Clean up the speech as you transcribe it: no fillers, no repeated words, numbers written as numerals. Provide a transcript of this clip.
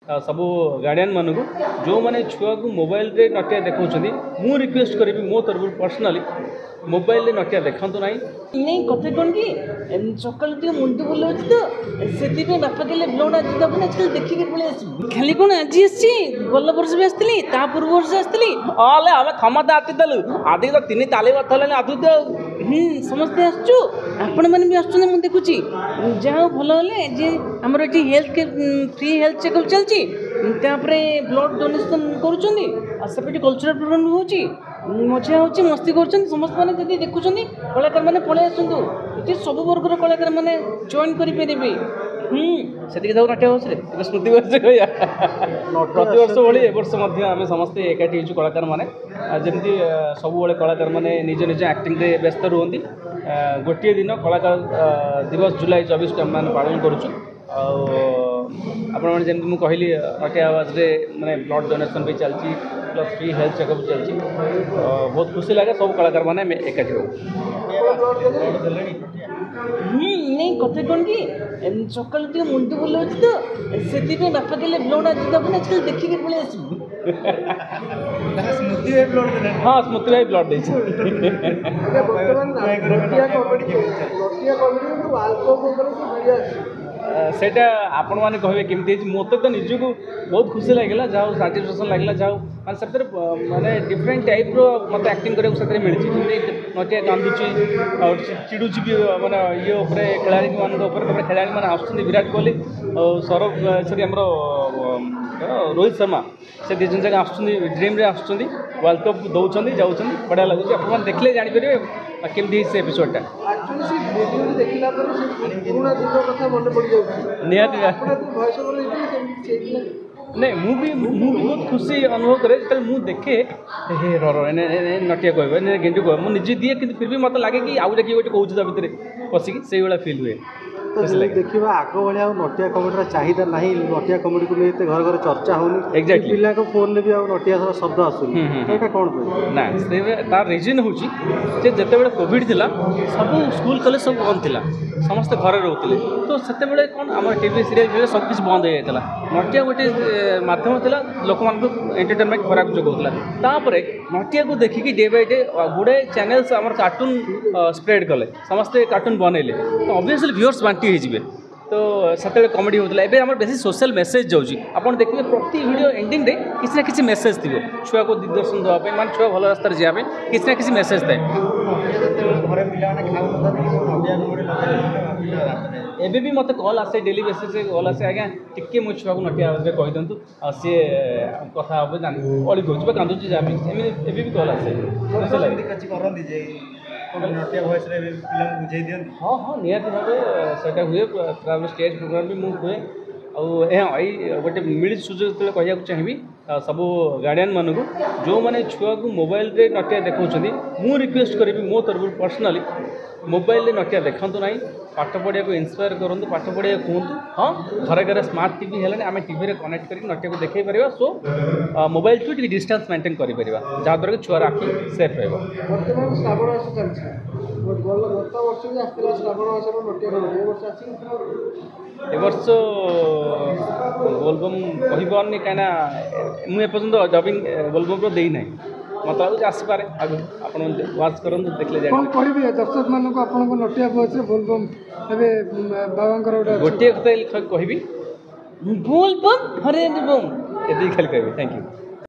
ସବୁ ଗାର୍ଡ଼ିଆନମାନଙ୍କୁ, ଯେଉଁମାନେ ଛୁଆକୁ ମୋବାଇଲରେ ନଟିଆ ଦେଖାଉଛନ୍ତି, ମୁଁ ରିକ୍ୱେଷ୍ଟ କରିବି ମୋ ତରଫରୁ ପର୍ସନାଲି, ମୋବାଇଲରେ ନଟିଆ ଦେଖାନ୍ତୁ ନାହିଁ। ନାଇଁ, କଥା କ'ଣ କି, ସକାଳୁ ଟିକେ ମୁଣ୍ଡ ବୁଲାଉଛି ତ, ସେଥିପାଇଁ ବାପା କହିଲେ ବ୍ଲଡ଼ ଆଜି ଦେବୁନି, ଆଜି ଦେଖିକି ପଳେଇ ଆସିବୁ। ଖାଲି କ'ଣ ଆଜି ଆସିଛି, ଗଲା ବର୍ଷ ବି ଆସିଥିଲି, ତା ପୂର୍ବ ବର୍ଷ ଆସିଥିଲି। ହଲେ ଆମେ ସମସ୍ତେ ଆସିଥିଲୁ, ଆଜି ତ 3 ଚାରି ବର୍ଷ ହେଲାଣି ଆସୁଛୁ ଆଉ। ସମସ୍ତେ ଆସୁଛୁ, ଆପଣମାନେ ବି ଆସୁଛନ୍ତି ମୁଁ ଦେଖୁଛି। ଯାହା ହଉ ଭଲ ହେଲେ ଯେ ଆମର ଏଠି ହେଲ୍ଥ ଫ୍ରି ହେଲ୍ଥ ଚେକଅପ୍ ଚାଲିଛି, ତାପରେ ବ୍ଲଡ଼ ଡୋନେସନ୍ କରୁଛନ୍ତି, ଆଉ ସେପଟେ କଲଚରାଲ୍ ପ୍ରୋଗ୍ରାମ୍ ବି ହେଉଛି, ମଜା ହେଉଛି, ମସ୍ତି କରୁଛନ୍ତି ସମସ୍ତେ। ମାନେ ଯଦି ଦେଖୁଛନ୍ତି କଳାକାରମାନେ ପଳେଇ ଆସନ୍ତୁ, ଏଠି ସବୁ ବର୍ଗର କଳାକାରମାନେ ଜଏନ୍ କରିପାରିବେ। ସେତିକି ଥାଉ। ନଟିଆ ବସରେ ଏବେ ସ୍ମୃତି ବସରେ କହିବା, ପ୍ରତିବର୍ଷ ଭଳି ଏ ବର୍ଷ ମଧ୍ୟ ଆମେ ସମସ୍ତେ ଏକାଠି ହେଇଛୁ କଳାକାରମାନେ। ଯେମିତି ସବୁବେଳେ କଳାକାରମାନେ ନିଜ ନିଜ ଆକ୍ଟିଂରେ ବ୍ୟସ୍ତ ରୁହନ୍ତି, ଗୋଟିଏ ଦିନ କଳାକାର ଦିବସ ଜୁଲାଇ 24କୁ ଆମେମାନେ ପାଳନ କରୁଛୁ। ଆଉ ଆପଣମାନେ ଯେମିତି ମୁଁ କହିଲି, ନଟିଆ ଆୱାଜରେ ମାନେ ବ୍ଲଡ଼ ଡୋନେସନ୍ ବି ଚାଲିଛି, ପ୍ଲସ୍ ଫ୍ରି ହେଲ୍ଥ ଚେକଅପ୍ ଚାଲିଛି। ବହୁତ ଖୁସି ଲାଗେ ସବୁ କଳାକାରମାନେ ଆମେ ଏକାଠି ହଉ। ନାଇଁ, କଥା କ'ଣ କି, ସକାଳୁ ଟିକେ ମୁଣ୍ଡ ବୁଲାଉଛି ତ, ସେଥିପାଇଁ ବାପା କହିଲେ ବ୍ଲଡ଼ ଆଜି ଦେବୁନି, ଆଜି ଦେଖିକି ପଳେଇ ଆସିବୁ। ହଁ, ସ୍ମୃତି ଭାଇ ବ୍ଲଡ଼ ଦେଇଛି। ବର୍ତ୍ତମାନ ନଟିଆ କମେଡି ୱାର୍ଲଡ କପ୍ ଉପରେ ଯୋଉ ଭିଡ଼ିଓ ଆସିଛି, ସେଇଟା ଆପଣମାନେ କହିବେ କେମିତି ହେଇଛି। ମୋତେ ତ ନିଜକୁ ବହୁତ ଖୁସି ଲାଗିଲା, ଯାହା ହଉ ସାଟିସ୍ଫାକ୍ସନ୍ ଲାଗିଲା। ଯାହା ହଉ ମାନେ ସେଥିରେ ମାନେ ଡିଫରେଣ୍ଟ ଟାଇପ୍ର ମୋତେ ଆକ୍ଟିଂ କରିବାକୁ ସେଥିରେ ମିଳିଛି। ଯେମିତି ନଟିଆ କାନ୍ଦୁଛି ଆଉ ଚିଡ଼ୁଛି ବି ମାନେ ଇଏ ଉପରେ, ଖେଳାଳିମାନଙ୍କ ଉପରେ। ତାପରେ ଖେଳାଳିମାନେ ଆସୁଛନ୍ତି, ବିରାଟ କୋହଲି ଆଉ ସୌରଭ, ସରି, ଆମର ରୋହିତ ଶର୍ମା, ସେ 2 ଜଣ ଯାକ ଆସୁଛନ୍ତି, ଡ୍ରିମ୍ରେ ଆସୁଛନ୍ତି, ୱାର୍ଲଡ଼ କପ୍ ଦେଉଛନ୍ତି, ଯାଉଛନ୍ତି। ବଢ଼ିଆ ଲାଗୁଛି। ଆପଣମାନେ ଦେଖିଲେ ଜାଣିପାରିବେ କେମିତି ହେଇଛି ସେ ଏପିସୋଡ଼ଟା। ଆକ୍ଚୁଆଲି ସେ ଭିଡ଼ିଓ ଦେଖିଲା ପରେ ସେ ପୁରୁଣା ଦିନ କଥା ମନେ ପଡ଼ିଯାଉଛି। ନିହାତି। ଆପଣ ଯେତେବେଳେ ଭଏସ୍ ଓଭର ଦେଇଥିଲେ, ସେମିତି ହେଇଥିଲା? ନାଇଁ, ମୁଁ ବି ବହୁତ ଖୁସି ଅନୁଭବ କରେ ଯେତେବେଳେ ମୁଁ ଦେଖେ, ହେ ର ର ଏନେ ନଟିଆ କହିବ, ଏନେ ଗେଣ୍ଡୁ କହିବ। ମୁଁ ନିଜେ ଦିଏ, କିନ୍ତୁ ଫିର୍ ବି ମୋତେ ଲାଗେ କି ଆଉ ଗୋଟେ କିଏ ଗୋଟେ କହୁଛି ତା ଭିତରେ ପଶିକି, ସେଇଭଳିଆ ଫିଲ୍ ହୁଏ। ତ ଯଦି ଦେଖିବା, ଆଗ ଭଳିଆ ଆଉ ନଟିଆ କମେଡ଼ିର ଚାହିଦା ନାହିଁ। ନଟିଆ କମେଡ଼ିକୁ ନେଇ ଏତେ ଘରେ ଘରେ ଚର୍ଚ୍ଚା ହେଉନି। ପିଲାଙ୍କ ଫୋନ୍ରେ ବି ଆଉ ନଟିଆ ଶବ୍ଦ ଆସୁନି। ତ ଏଇଟା କ'ଣ ପାଇଁ? ନା, ସେ ତାର ରିଜନ୍ ହେଉଛି ଯେ ଯେତେବେଳେ କୋଭିଡ଼ ଥିଲା, ସବୁ ସ୍କୁଲ କଲେଜ ସବୁ ବନ୍ଦ ଥିଲା, ସମସ୍ତେ ଘରେ ରହୁଥିଲେ। ତ ସେତେବେଳେ କ'ଣ ଆମର ଟିଭି ସିରିଏଲ୍ ସବୁ କିଛି ବନ୍ଦ ହେଇଯାଇଥିଲା। ନଟିଆ ଗୋଟେ ମାଧ୍ୟମ ଥିଲା, ଲୋକମାନଙ୍କୁ ଏଣ୍ଟରଟେନମେଣ୍ଟ ଖୋରାକ ଯୋଗାଉଥିଲା। ତାପରେ ନଟିଆକୁ ଦେଖିକି ଡେ ବାଇ ଡେ ଗୁଡ଼ାଏ ଚ୍ୟାନେଲ୍ସ ଆମର କାର୍ଟୁନ୍ ସ୍ପ୍ରେଡ୍ କଲେ, ସମସ୍ତେ କାର୍ଟୁନ୍ ବନେଇଲେ, ତ ଅବଭିୟସଲି ଭିଉଅର୍ସ ବାଣ୍ଟି ହେଇଯିବେ। ତ ସେତେବେଳେ କମେଡ଼ି ହେଉଥିଲା, ଏବେ ଆମର ବେଶୀ ସୋସିଆଲ୍ ମେସେଜ୍ ଯାଉଛି। ଆପଣ ଦେଖିବେ ପ୍ରତି ଭିଡ଼ିଓ ଏଣ୍ଡିଂରେ କିଛି ନା କିଛି ମେସେଜ୍ ଥିବ, ଛୁଆକୁ ଦିଗ୍ଦର୍ଶନ ଦେବା ପାଇଁ, ମାନେ ଛୁଆ ଭଲ ରାସ୍ତାରେ ଯିବା ପାଇଁ କିଛି ନା କିଛି ମେସେଜ୍ ଥାଏ। ଘରେ ପିଲାମାନେ ଖାଉନଥାନ୍ତି, ନଟିଆ କମେଡ଼ି ଲଗାଇ। ଏବେ ବି ମୋତେ କଲ୍ ଆସେ, ଡେଲି ବେସିସ୍ରେ କଲ୍ ଆସେ, ଆଜ୍ଞା ଟିକେ ମୋ ଛୁଆକୁ ନଟିଆ ଆୱାଜରେ କହିଦିଅନ୍ତୁ, ଆଉ ସିଏ କଥା ହେବ, ଜାଣି ଅଳି କରୁଛି ବା କାନ୍ଦୁଛି, ଯାହା ବି ଏମିତି ଏବେ ବି କଲ୍ ଆସେ। ଖୁସି ଲାଗେ। ସେମିତି କିଛି କରନ୍ତି ଯେ ନଟିଆ ଭଏସ୍ରେ ଏବେ ପିଲାଙ୍କୁ ବୁଝେଇ ଦିଅନ୍ତି? ହଁ, ନିହାତି ଭାବେ ସେଇଟା ହୁଏ। ତାପରେ ଷ୍ଟେଜ୍ ପ୍ରୋଗ୍ରାମ୍ ବି ମୁଁ ହୁଏ। ଆଉ ହଁ, ଏଇ ଗୋଟେ ମିଳିଛି ସୁଯୋଗ ଯେତେବେଳେ କହିବାକୁ ଚାହିଁବି ସବୁ ଗାର୍ଡ଼ିଆନମାନଙ୍କୁ, ଯେଉଁମାନେ ଛୁଆକୁ ମୋବାଇଲରେ ନଟିଆ ଦେଖାଉଛନ୍ତି, ମୁଁ ରିକ୍ୱେଷ୍ଟ କରିବି ମୋ ତରଫରୁ ପର୍ସନାଲି, ମୋବାଇଲରେ ନଟିଆ ଦେଖାନ୍ତୁ ନାହିଁ। ପାଠ ପଢ଼ିବାକୁ ଇନ୍ସପାୟାର କରନ୍ତୁ, ପାଠ ପଢ଼ିବାକୁ କୁହନ୍ତୁ। ହଁ, ଘରେ ଘରେ ସ୍ମାର୍ଟ ଟିଭି ହେଲାଣି, ଆମେ ଟିଭିରେ କନେକ୍ଟ କରିକି ନଟିଆକୁ ଦେଖାଇ ପାରିବା। ସୋ ମୋବାଇଲଠୁ ଟିକେ ଡିଷ୍ଟାନ୍ସ ମେଣ୍ଟେନ୍ କରିପାରିବା, ଯାହାଦ୍ୱାରା କି ଛୁଆର ଆଖି ସେଫ୍ ରହିବ। ବର୍ତ୍ତମାନ ଶ୍ରାବଣ ମାସ ଚାଲିଛି। ଗତ ବର୍ଷ ବି ଆସିଥିଲା ଶ୍ରାବଣ ମାସର ନଟିଆ କମେଡି, ଏ ବର୍ଷ ଆସିଛି? ଏ ବର୍ଷ ବୋଲବମ୍ କହିପାରୁନି, କାହିଁକିନା ମୁଁ ଏପର୍ଯ୍ୟନ୍ତ ଡବିଂ ବୋଲବମ୍ର ଦେଇନାହିଁ। ମୋତେ ଲାଗୁଛି ଆସିପାରେ ଆଗକୁ। ଆପଣ ୱାଚ୍ କରନ୍ତୁ, ଦେଖିଲେ କ'ଣ ଜାଣିବେ। କହିବେ ଦର୍ଶକମାନଙ୍କୁ ଆପଣଙ୍କ ନଟିଆ ଭଏସ୍ରେ ବୋଲବମ୍ ଏବେ ବାବାଙ୍କର ଗୋଟେ ଅଛି। ଗୋଟିଏ କଥା କହିବି, ବୋଲବମ୍ ହରେ ବମ୍। ଏତିକି ଖାଲି କହିବି। Thank you.